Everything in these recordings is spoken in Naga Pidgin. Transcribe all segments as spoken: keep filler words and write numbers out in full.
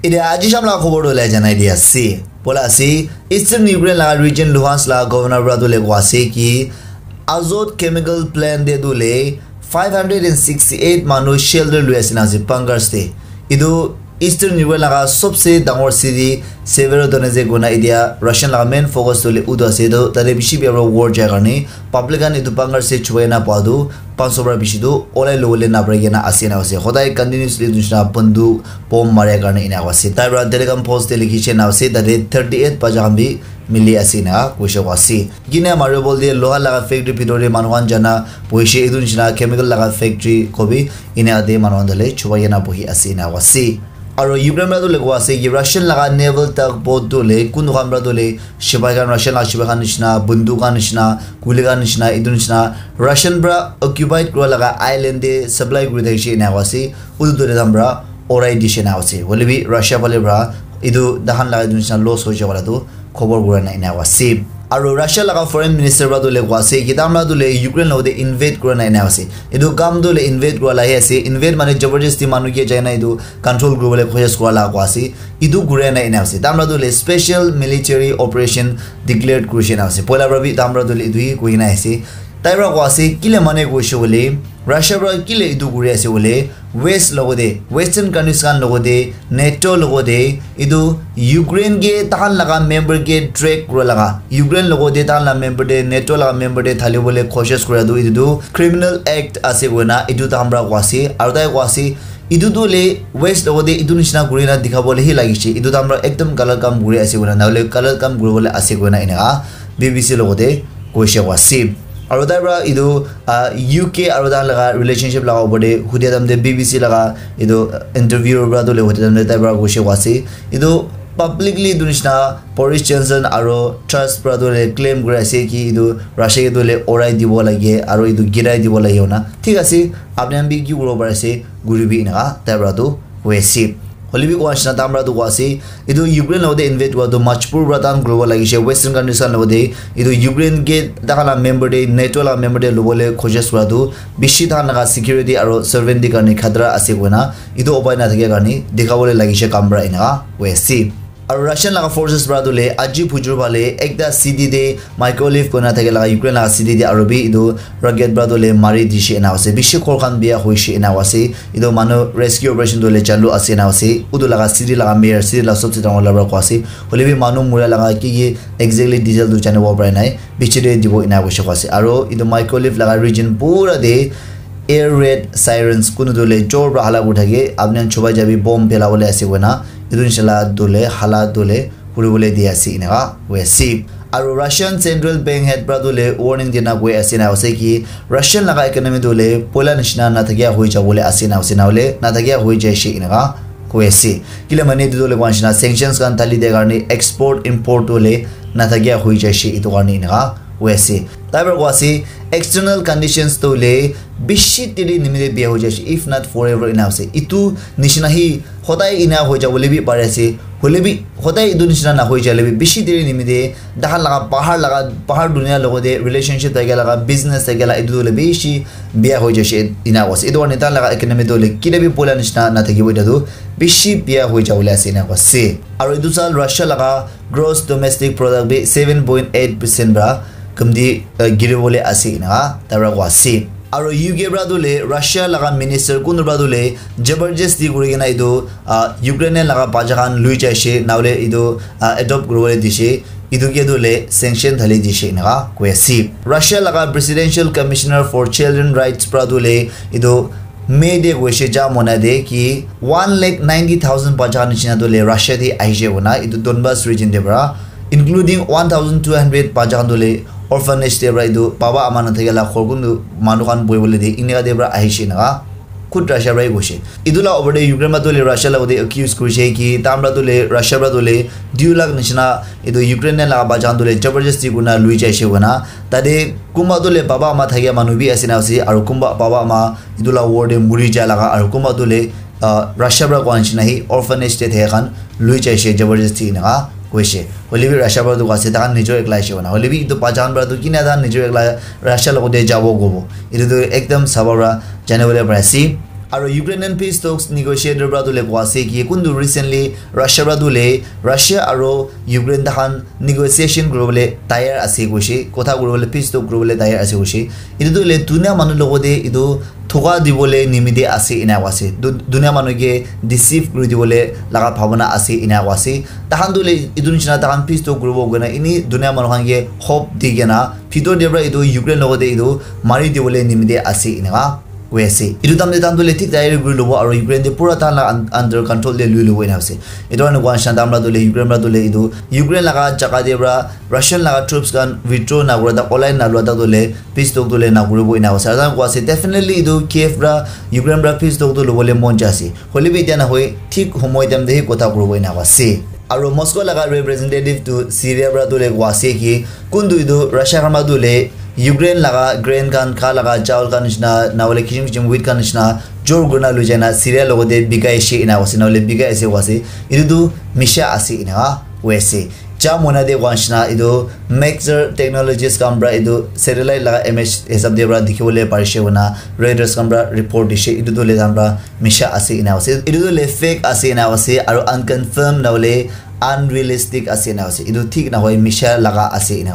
Ede aji sham la khobor tu le janai di ase. Bola ase, Eastern Ukraine la region Luhansk la governor pra tu le kwa ase ki Azot chemical plant de tu le five hundred and sixty-eight manu shelter lui ase na ase bunkers de. Etu Eastern Ukraine laga sobse dangor city Severodonetsk kona etia Russian laga main focus tu le utu ase. Etu tate bishi bia pra war jai karne public khan etu bunkers de chubai na pa tu panch so pra bishi tu olai lobole na pare kena ase na ase. Hodai continuously etu nishina banduk bomb mare karne ena ase. Tai pra Telegram post de likhi che na ase, tate thirty eight bacha khan bi mili ase na koishe ko ase. Kine mare bol de loha laga factory bhitor de manu khan jana boishe, etu nishina chemical laga factory kobi ena de manu khan dole chubai kena bohi ase na ase. Aro Ukraine pra tu le ko ase ki Russian laga naval tugboat tu le kunu khan pra tu le shipai khan, Russian laga shipai khan nishina, banduk khan nishina, kuli khan nishina, etu nishina Russian pra occupied kura laga island de supply kuri thakishe ena ase. Utu tu le dam pra orai dishe na ase. Hoile bi Russia phale pra etu dahan laga etu nishina loss hoishe wala tu khobor kura na ena ase. Aro Russia laga foreign minister pra tu le kwa ase ki tamra tu le Ukraine logote invade kura na ena ase. Etu kam tu le invade kura la he ase. Invade mane jabardasti manu ke jai na etu control kuribole koshis kura la kwa ase. Etu kura na ena ase. Tamra tu le special military operation declared kurishe na ase. Poila pra bi tamra tu le etu hi koi na ase. Tai pra kwa ase kile mane koishe bole Russia pra kile etu kuri ase bole West logote, Western countries khan logote, NATO logote, etu Ukraine ke tahan laga member ke drag kura laga, Ukraine logote tahan laga member de, NATO laga member de thali bole koshis kura tu etu tu criminal act ase koina etu tahan pra kwa ase. Aru tai kwa ase etu tu le West logote etu nishina kuri na dikha bole hi lagi se, etu tahan pra ekdom galat kam kuri ase koina, na hole galat kam kuri bole ase koina eneka B B C logote koishe kwa ase. Aro tai pra etu ah, U K aro tai laga relationship laga opor de hudia time de B B C laga etu interview pra tu le hudia time de tai pra koishe kwa ase. Etu publicly etu nishina Boris Johnson aro Truss pra tu le claim kuri ase ki etu Russia ke tu le orai dibo lage aro etu girai dibo lage hona. Thik ase, apni khan bi ki kuribo pari ase, kuri bi eneka tai pra tu hoi ase. Hoile bi koa nishina tamra tu koa ase, etu Ukraine logote invade kura tu majbur pra tahan kuribo lagise, Western countries khan logote etu Ukraine ke tahan la member de, NATO la member de lobole koshis kura tu bishi tahan laga security aro sovereignty karne khatra ase koina etu upai na thakia karne dikhabole lagise kam pra eneka hoi ase. Aro Russian laga forces pra tu le aji phujur phale ekta city de Mykolaiv koina thake laga Ukraine laga city de aro bi etu rocket pra tu le mari dishe ena ase. Bishi ghor khan biya hoishe ena ase. Etu manu rescue operation tu le chalu ase ena ase. Utu laga city laga mayor, city laga sobse dangor la pra koa ase. Hoile bi manu mura laga ki ki exactly detail tu janibo para nai. Piche de dibo ena koishe koa ase. Aro etu Mykolaiv laga region pura de air raid sirens kunu tu le jor pra hala kuri thake. Apni khan chubai jabi bomb phela bole ase koina. Etu nishe la tu le hala tu le kuri bole di ase eneka hoi ase. Aro Russian Central Bank head pra tu le warning dina koi ase na ase ki Russian laga economy tu le poila nishina na thakia hoi jabo le ase na ase na hole na thakia hoi jaishe eneka hoi ase. Kile mane etu tu le koa nishina sanctions khan thali de karne export import tu le na thakia hoi jaishe etu karne eneka hoi ase. Tai pra koa ase external conditions tu le bishi tiri nimite biya hoi jaishe if not forever ena ase. Etu nishina hi hodai ena hoi jabo le bi pari ase. Hoile bi hodai etu nishina na hoi jale bi bishi deri nimite dahan laga bahar laga bahar dunia logote relationship thake laga business thake la etu le bishi biya hoi jaishe ena koa ase. Etu karne tai laga economy tu le kile bi poila nishina na thakibo etu tu bishi biya hoi jabo le ase ena koa ase. Aro etu sal Russia laga gross domestic product bi seven point eight percent pra kamti uh, giri bole ase ena tai pra koa ase. Aro U K pra tu le Russia laga minister kunu pra tu le jabardasti kuri kena etu uh, Ukraine laga bacha khan lui jaishe na hole etu uh, adopt kuri bole dishe etu ke tu le sanction thali dishe eneka koi ase. Russia laga presidential commissioner for children rights pra tu le etu May de koishe ja mona de ki one lakh ninety thousand bacha khan nishina tu le Russia de ahishe koina etu Donbas region de pra including one thousand two hundred bacha khan tu le orphanage de pra etu baba ama na thake la khor kun tu manu khan boi bole de eneka de pra ahishe eneka khud Russia pra hi koishe. Etu la opor de Ukraine pra tu le Russia logote accuse kurishe ki tamra tu le Russia pra tu le dui lakh nishina etu Ukraine laga bacha khan tu le jabardasti kurina lui jaishe koina tate kunba tu le baba ama thakia manu bi ase na ase aro kunba baba ama etu la war de muri ja laga aro kunba tu le uh, Russia pra koa nishina hi orphanage de thaka khan lui jaishe jabardasti eneka koishe. Hoile bi Russia pra tu koa ase tai khan nijor ekla ahishe koina. Hoile bi etu bacha khan pra tu kina tai khan nijor ekla Russia logote jabo kobo. Etu tu ekdam saba pra jani bole pari ase. Aro Ukrainian peace talks negotiator pra tu le koa ase ki kuntu recently Russia pra tu le Russia aro Ukraine tahan negotiation kuribole tayar ase koishe, kotha kuribole, peace talk kuribole tayar ase koishe. Etu tu le dunia manu logote etu thoka dibole nimite ase ena koa ase. Du-, dunia manu ke deceive kuri dibole laga bhabana ase ena koa ase. Tahan tu le etu nishina tahan peace talk kuribo koina ini dunia manu khan ke hope di kena bhitor te pra etu Ukraine logote etu mari dibole nimite ase ena koi ase. Etu time te tahan tu le thik tayari kuri lobo aro Ukraine te pura tahan la un-, under control te lui lobo ena ase. Etu karne koa nishina tahan pra tu le Ukraine pra tu le etu Ukraine laga jaga te pra Russian laga troops khan withdraw na kura ta, olai na lua ta tu le peace talk tu le na kuribo ena ase. Aru tahan koa ase, definitely etu Kiev pra Ukraine pra peace talk tu lobole mon jai ase. Hoile bi etia nahoi, thik homoi time te hi kotha kuribo ena ase. Aro Moscow laga representative tu Syria pra tu le koa ase ki kuntu etu Russia khan pra tu le Ukraine laga grain khan, kha laga chawal khan nishina, na hoile kisim kisim wheat khan nishina jor kurina lui jaina Syria logote bikai she ena koa ase, na hoile bikai ase koa ase. Etu tu misha ase ena koa ase. Ja mona de koa nishina etu Maxar Technologies khan pra etu satellite laga image hisab de pra dikhi bole parishe koina Reuters khan pra report dishe. Etu tu le tahan pra misha ase ena koa ase. Etu tu le fake ase ena koa ase, aro unconfirmed na hoile unrealistic ase ena koa ase. Etu thik nahoi, misha laga ase ena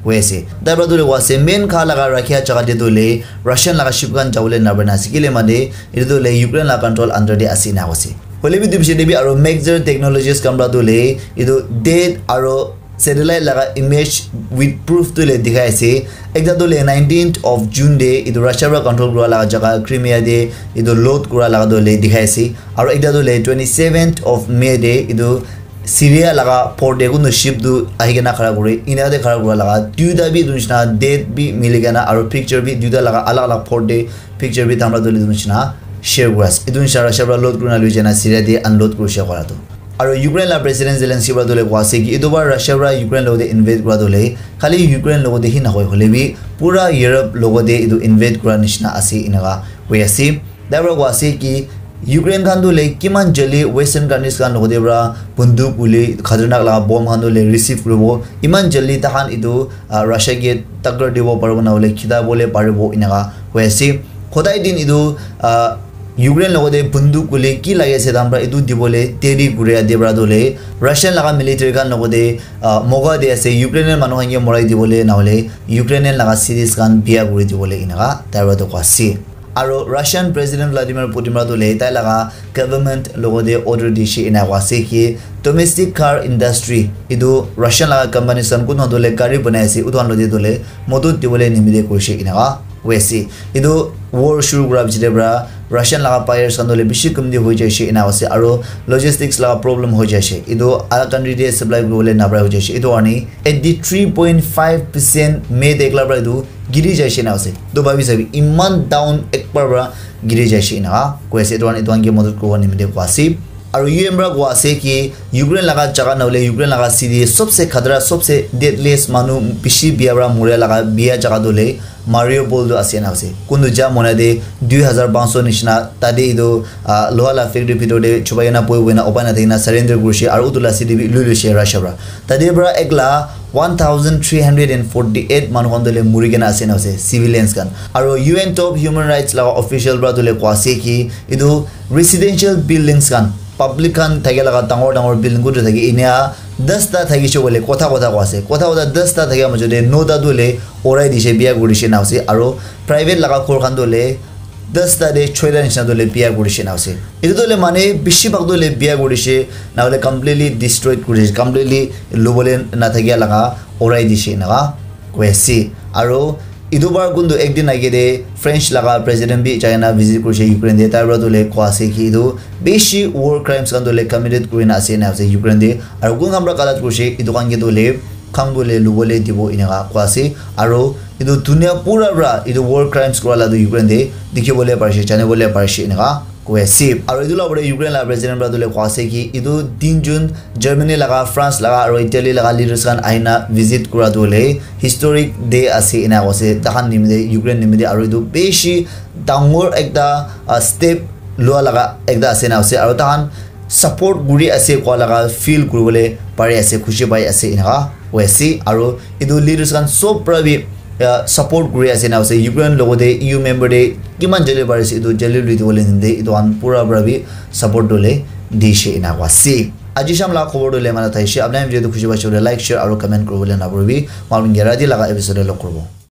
koa ase. Tai pra tu le koa ase, main kha laga rakhia jaga te tu le Russian laga ship khan jabole na bana ase. Kile mane etu tu le Ukraine laga control under te ase ena koa ase. Hoile bi etu bishi te bi aro Maxar Technologies khan pra tu le etu date aro satellite laga image with proof tu le dikhai ase. Ekta tu le nineteenth of June te etu Russia pra control kura laga jaga Crimea te etu load kura laga tu le dikhai ase. Aro ekta tu le twenty-seventh of May te etu Syria laga port te kuntu ship tu ahi kena khara kure, ena te khara kura laga duita bi etu nishina date bi mili kena aro picture bi duita laga alag alag port te picture bi tahan pra tu le etu nishina share kura ase. Etu nishina Russia pra load kurina lui jaina Syria te unload kurishe koa tu. Aro Ukraine la President Zelensky pra tu le koa ase ki etu bar Russia pra Ukraine logote invade kura tu le khali Ukraine logote hi nahoi, hoile bi pura Europe logote etu invade kura nishina ase ena koa koi ase. Tai pra koa ase ki Ukraine khan tu le kiman jaldi Western countries khan logote pra bunduk guli khatarnak laga bomb khan tu le receive kuribo, iman jaldi tahan etu, ah, Russia ke takkar dibo paribo na hoile khita bole paribo ena koa koi ase. Hodai din etu, ah, Ukraine logote bunduk guli ki lage ase tahan pra etu dibole teri kuri ade pra tu le Russian laga military khan logote, ah, moga de ase Ukrainian manu khan ke morai dibole na hoile Ukrainian laga cities khan bia kuri dibole ena koa tai pra tu koa ase. Aro Russian President Vladimir Putin pra tu le tai laga government logote order dishe ena koa ase ki domestic car industry etu Russian laga companies khan kun tu le gari banai ase utu khan logote tu le modot dibole nimite koishe ena koa koi ase. Etu war shuru kura pichete pra Russian laga buyers khan tu le bishi kamti hoi jaise ena koa ase aro logistics laga problem hoi jaise. Etu alag country te supply kuribole napara hoi jaise. Etu karne eighty three point five percent May te ekla pra etu giri jaise ena ase. To bhabi sabi, iman down ekbar pra giri jaise ena koi ase. Etu khan, etu khan ke madad kuribo nimite koa ase. Aru U N pra koa ase ki Ukraine laga jaga na hoile Ukraine laga city sobse khatara, sobse deadliest manu bishi bia pra moria laga bia jaga tu hoile Mariupol tu ase ena ase. Kuntu ja mona de dui hazar panch sho nishina tate etu, ah, loha la factory bhitor te chupai kena poi kena upai na thaki na surrender kurishe aru utu la city bi lui luishe Russia pra. Tate pra ekla one thousand three hundred and forty eight manu khan tu hoile muri kena ase ena ase, civilians khan. Aru U N top human rights laga official pra tu hoile koa ase ki etu residential buildings khan, public khan thake laga dangor dangor building kutu thake enia das ta thakishe koile kotha kotha koa ase. Kotha kotha das ta thakia majo te no ta tu hoile urai dishe, bia kuri dishe ena ase. Aru private laga ghor khan tu hoile das ta te choi ta nishina tu hoile bia kuri dishe ena ase. Etu tu hoile mane bishi bhag tu hoile bia kuri dishe, na hoile completely destroyed kuri dishe, completely lubole na thakia laga urai dishe ena koi ase. Aru etu bar kuntu ekdin age te French laga president bi jai na visit kurishe Ukraine te, tai pra tu hoile koa ase ki etu bishi war crimes khan tu hoile committed kuri na ase ena ase Ukraine te. Aru kun khan pra galat kurishe etu khan ke tu hoile khan tu hoile lubole dibo ena koa ase. Aru etu dunia pura pra etu war crimes kura la tu Ukraine te dikhi bole parishe, jani bole parishe ena koi ase. Aru etu la upor te Ukraine la president pra tu hoile koa ase ki etu tin jun Germany laga, France laga aru Italy laga leaders khan ahi na visit kura tu hoile historic day ase ena koa ase. Takhan nimite, Ukraine nimite aru etu bishi dangor ekta, ah, step lua laga ekta ase ena ase. Aru takhan support kuri ase koa laga feel kuribole pari ase, khushi pai ase ena koi ase. Aru etu leaders khan sob pra bi uh, support kuri ase na ase. Ukraine logote E U member de kiman jale parise etu jale lui dibole ninde etu khan pura pura bi support dole dishe ena koa ase. Aji sham la khobor tu le mala thaishe. Apnai video tu khushi paishe koile like, share aru comment kuribole na puribi. Malum gera di laga episode log kuribo.